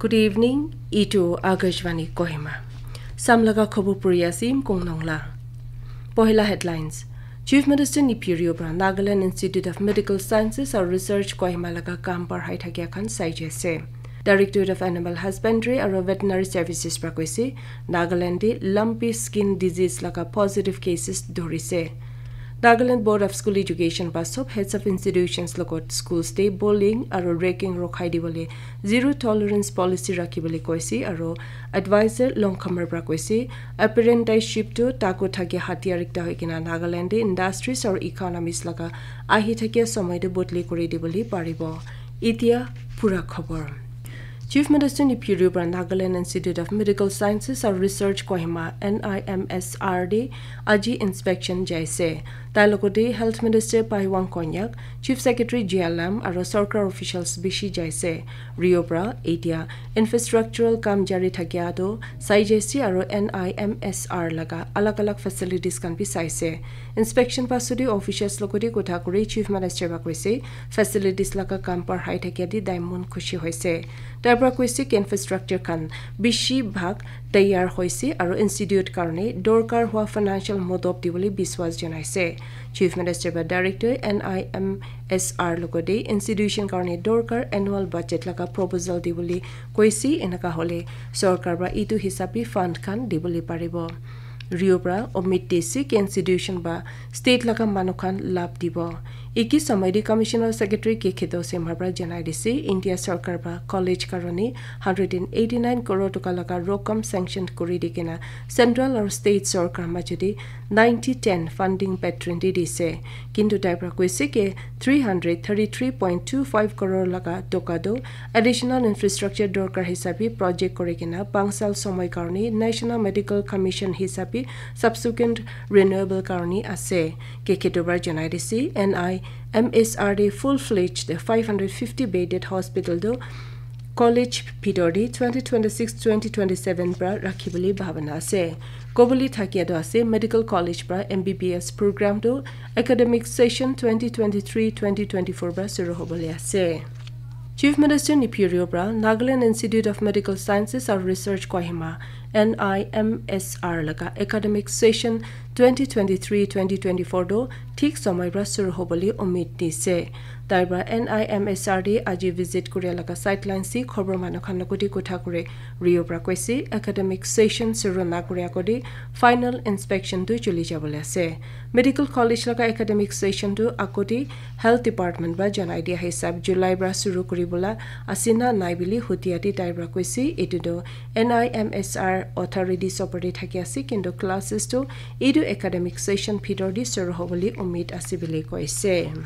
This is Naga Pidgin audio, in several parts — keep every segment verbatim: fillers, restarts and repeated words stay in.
Good evening, itu Akashvani Kohima. Samlaga khobor puri asim kong nongla. Pohila headlines. Chief Minister Neiphiu Rio para Nagaland Institute of Medical Sciences aru Research Kohima laga kam parhai thakia khan sai jaise. Directorate of Animal Husbandry aru Veterinary Services para koise, Nagaland te lumpy skin disease laga positive cases dhurise. Nagaland Board of School Education para sob heads of institutions logot schools te bullying aru ragging rokhai dibole zero tolerance policy rakhibole koise aru advisor Longkhamar para koise, apprenticeship tu taku thakia hatiyar ekta hoi kena Nagaland te industries aru economies laga ahi thakia somoi te bodli kuri dibole paribo. Itia pura khobor. Chief Minister Neiphiu Rio para Nagaland Institute of Medical Sciences aru Research Kohima, N I M S R te aji inspection jaise. Tai logote Health Minister Paiwang Konyak, Chief Secretary Jia Lam aru sorkar officials bishi jaise. Rio para itia infrastructural kam jari thakia tu sai jaise aru N I M S R laga alag alag facilities khan bi saise. Inspection pasudi officials logote kotha kuri Chief Minister para koise, facilities laga kam parhai thakia di tai mon khushi hoise. Tai para koise ki infrastructure khan bishi bhag tayar hoise aru institute karne dorkar hua financial modop dibole biswas janaise. Chief Minister para director N I M S R logote institution karne dorkar annual budget laga proposal dibole koise, enaka hole sorkar para itu hisabi fund khan dibole paribo. Rio para omid dise ki institution ba state laga manu khan lab dibo. Iki somoi te Commissioner Secretary K Khedo Singha para janai dise, India sorkar ba college karone hundred and eighty nine crore toka laga rokom sanction kuri di kena central aru state sorkar majodi ninety ten funding pattern di dise. Kintu tai para koise ki three hundred thirty three point two five crore laga toka do additional infrastructure dorkar hisabi project kuri kena pangsal somoi karone National Medical Commission hisabi subsequent renewable karone ase. K Khedo para janai dise, N I M S R te full fledged five hundred fifty bedded hospital tu college bhitor te twenty twenty six twenty twenty seven para rakhibole bhabana ase. Kobole thakia tu ase, medical college para M B B S program tu academic session twenty twenty three twenty twenty four para shuru hobole ase. Chief Minister Neiphiu Rio para Nagaland Institute of Medical Sciences aru Research Kohima, N I M S R laga academic session twenty twenty three twenty twenty four tu thik somoi para shuru hobole omid dise. Tai para N I M S R te aji visit kuria laga sideline si khobor manu khan logote kotha kuri Rio para koise, academic session shuru na kuria agodi final inspection tu chuli jabole ase. Medical college laga academic session tu agodi Health Department para janai dia hisab July para shuru kuri bola ase na nai bili hutia te tai para koise, itu tu N I M S R authority opor te thaki ase, kintu classes tu itu academic session bhitor te shuru hobole omid ase bili koise.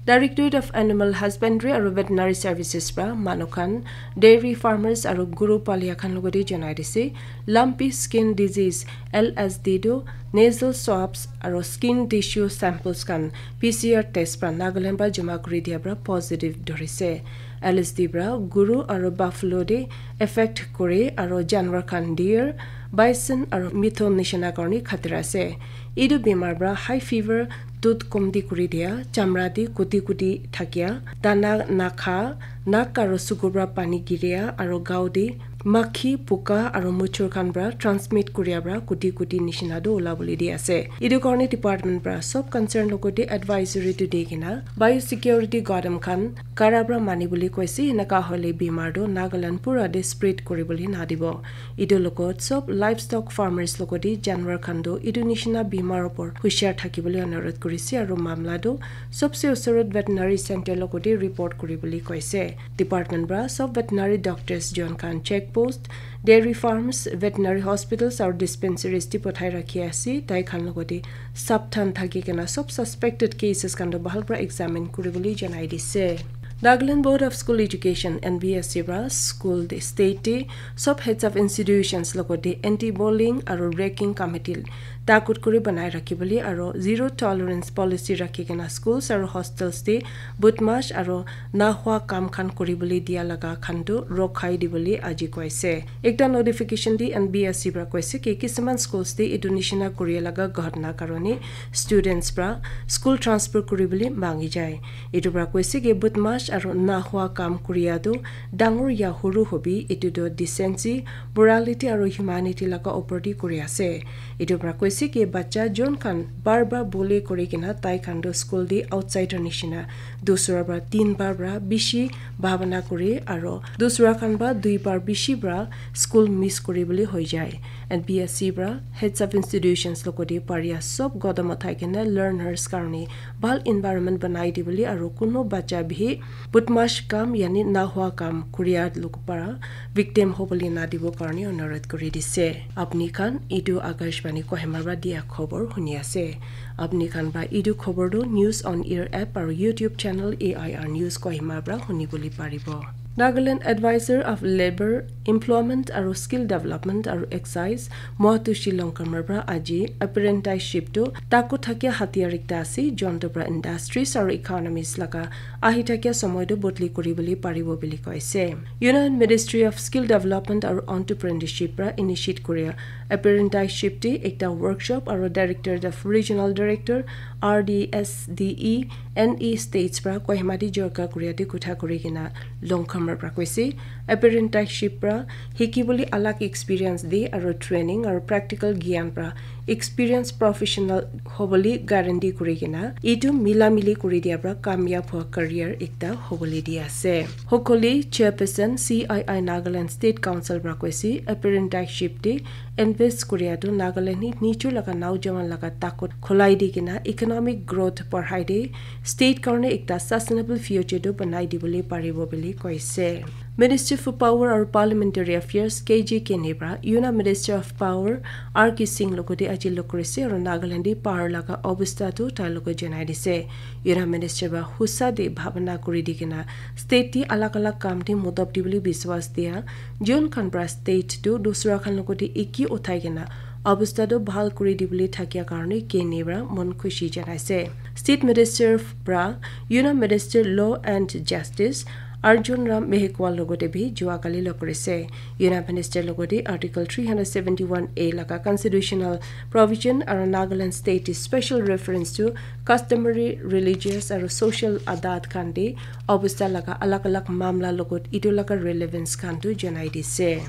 Directorate of Animal Husbandry aru Veterinary Services para manu khan, dairy farmers aru guru palia khan logote janai dise, lumpy skin disease, L S D tu nasal swabs aru skin tissue samples khan P C R test para Nagaland para jama kuri dia para positive dhurise. L S D para guru aru buffalo te affect kore aru janwar khan deer, bison aru mithun nishina karne khatira ase. Itu bimar para high fever, dud komti kuri dia, chamra te kuti kuti thakia, dana nakha, nak aru suku para pani giria aru gao te makhi, puka aru muchur khan para transmit kuria para kuti kuti nishina tu ola bole di ase. Itu karne department para sob concern logote advisory tu di kena biosecurity gadam khan kara para mani bole koise, enaka hole bimar tu Nagaland pura te spread kuri bole na dibo. Itu logot sob livestock farmers logote janwar khan tu itu nishina bimar opor hushar thaki bole anurodh kurise aru mamla tu sobse usorot veterinary center logote report kuri bole koise. Department para sob veterinary doctors jon khan check post, dairy farms, veterinary hospitals aru dispensaries te pathai rakhi ase. Tai khan logote sabdhan thaki kena sob suspected cases khan tu bahal para examine kuri bole janai dise. Nagaland Board of School Education, N B S E para school te state te sob heads of institutions logote anti bullying aru ragging committee takut kuri banai rakhi bole aro zero tolerance policy rakhi kena schools aro hostels te budmash aro nahua kam khan kuri bole dia laga khan tu rokhai di bole aji koise. Ekta notification di N B S C pra koise ki kisuman schools te etu nishina kuri laga ghotna karone students pra school transfer kuri bole mangi jai. Etu pra koise ki budmash aro nahua kam kuria tu dangor ya huru hobi, etu tu decency, morality aro humanity laga opor te kuri ase. Etu pra koise ki bacha jon khan bar bar bully kuri kena tai khan tu school te outsider nishina, dusra pra tin bar pra bishi bhabana kuri aro dusra khan pra dui bar bishi pra school miss kuri bole hoi jai. N B S C pra heads of institutions logote paria sob godam uthai kena learners karone bhal environment banai di bole aro kuno bacha bhi budmash kam yani nahua kam kuria log para victim hobole na dibo karone onurodh kuri dise. Apni khan etu Akashvani Kohima pra dia khobor huni ase. Apni khan pra etu khobor tu News on Air app aro YouTube channel A I R News Kohima pra huni bole paribo. Nagaland Advisor of Labour, Employment aro Skill Development aro Excise, Moatushi Longkamar pra aji apprenticeship tu taku thakia hatiar ekta ase, jonto pra industries aro economies laga ahi thakia somoy tu bodli kuri bole paribo bole koise. Union Ministry of Skill Development aro Entrepreneurship pra initiate kuria apprenticeship te ekta workshop aro Directorate of Regional Director R D S D E N E States pra Kohima te jorka kuria te kutha kuri kena Longkhamar pra koise. Apprenticeship pra hiki bole alag experience de aro training aro practical gyan pra experience professional hobole guarantee kuri kena etu mila mili kuri dia pra kamyab hua career ekta hobole di ase. Hokoli chairperson C I I Nagaland State Council pra koise apprenticeship te invest kuria tu Nagaland ni nichur laga naujawan laga takut khulai di kena economic growth barhai de state karone ekta sustainable future tu banai di bole paribo bole koise. Minister for Power aro Parliamentary Affairs K J Kenei pra Union Minister of Power R K Singh logote aji log kurise aro Nagaland te power laga obostha tu tai logot janai dise. Union Minister pra husa de bhabana kuri di kena state te alag alag kam te modop di bole biswas dia jon khan pra state tu dusra khan logote eki uthai kena obostha tu bhal kuri di bole thakia karone Kenei pra mon khushi janaise. State Minister pra Union Minister Law and Justice Arjun Ram Mehkwal logote bhi jua kali log kurise. Union Minister logote Article three hundred seventy-one A laga constitutional provision aro Nagaland state special reference to customary, religious aro social adat khan de obostha laga alag alag mamla logot etu laga relevance khan tu janai dise.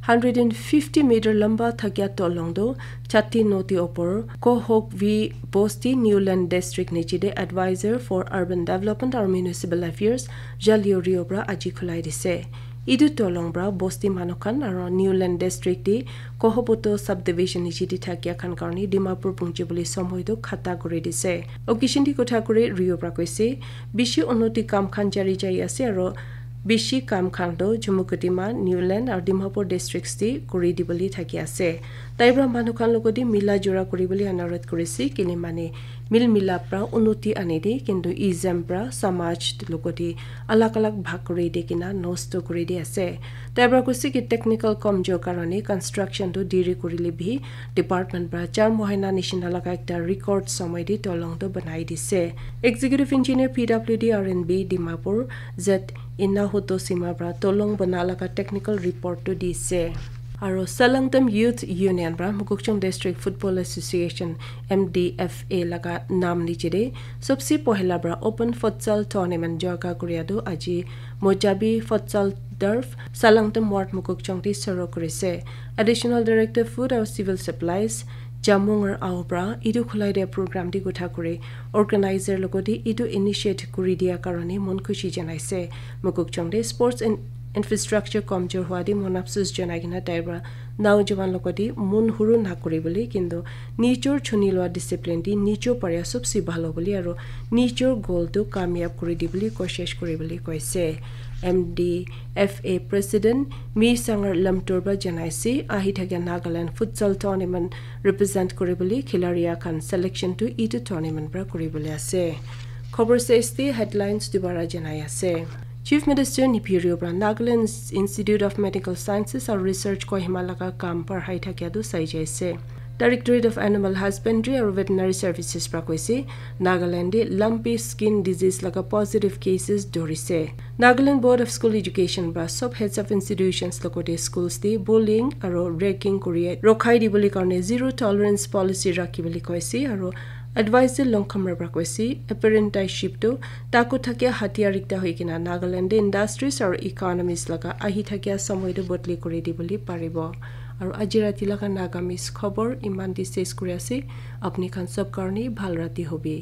Hundred and fifty meter lamba thakia tolong tu Chatti Nodi opor Kohok V Bosti Newland District niche de Advisor for Urban Development aro Municipal Affairs Jalio Rio pra aji khulai dise. Etu tolong pra bosti manu khan aro Newland District de Kohopoto Subdivision niche de thakia khan karone Dimapur pungji bole somoy tu khata kuri dise. Occasion de kotha kuri Rio pra koise, bishi unnoti kam khan jari jai ase aro bishi kam khan tu Chumukedima, Newland aro Dimapur districts te kuri di bole thaki ase. Tai pra manu khan logote mila jura kuri bole anurodh kurise, kile mane mil milap pra unnoti ani de, kintu ism pra samaj logote alag alag bhag kuri di kena nosto kuri di ase. Tai pra koise ki technical komjor karone construction tu deri kurile bhi department pra char mohina nishina laga ekta record somoy de tolong tu banai dise. Executive Engineer P W D R and B Dimapur Z Inahuto Sima pra tolong bana laga technical report tu dise. Aro Salangtam Youth Union pra Mokokchung District Football Association M D F A laga nam niche de sobse pohila pra Open Futsal Tournament jorka kuria tu aji Mojabi Futsal Turf Salangtam Ward Mokokchung te soro kurise. Additional Director Food aro Civil Supplies Jamungar Ao pra etu khulai dia program de kotha kuri organizer logote etu initiate kuri dia karone mon khushi janaise. Mokokchung de sports and infrastructure komjor hua de mon afsus janai kena tai pra naujawan logote mon huru na kuri bole, kintu nijor chuni lua discipline de nijor paria sobse bhal hobole aro nijor goal tu kamyab kuri di bole koshish kuri bole koise. M D F A President Mi Sangar Lamtur pra janaise, ahi thakia Nagaland Futsal Tournament represent kuri bole khilaria khan selection tu etu tournament pra kuri bole ase. Khobor saise de headlines dubara janai ase. Chief Minister Neiphiu Rio pra Nagaland Institute of Medical Sciences aro Research Kohima laga kam barhai thakia tu sai jaise. Directorate of Animal Husbandry aru Veterinary Services pra koise, Nagaland te lumpy skin disease laga positive cases dorise. Nagaland Board of School Education pra sob heads of institutions logote schools te bullying aru ragging kuri rokhai dibole karne zero tolerance policy rakhi bole koise aru advisor Longkhamra pra koise, apprenticeship tu taku thakia hatiyar ekta hoi kena Nagaland te industries aru economies laga ahi thakia samoi tu bodli kuri dibole paribo. Aru aji rati laga Nagamese khobor iman te ses kuri ase. Apni khan sob karne bhal rati hobi.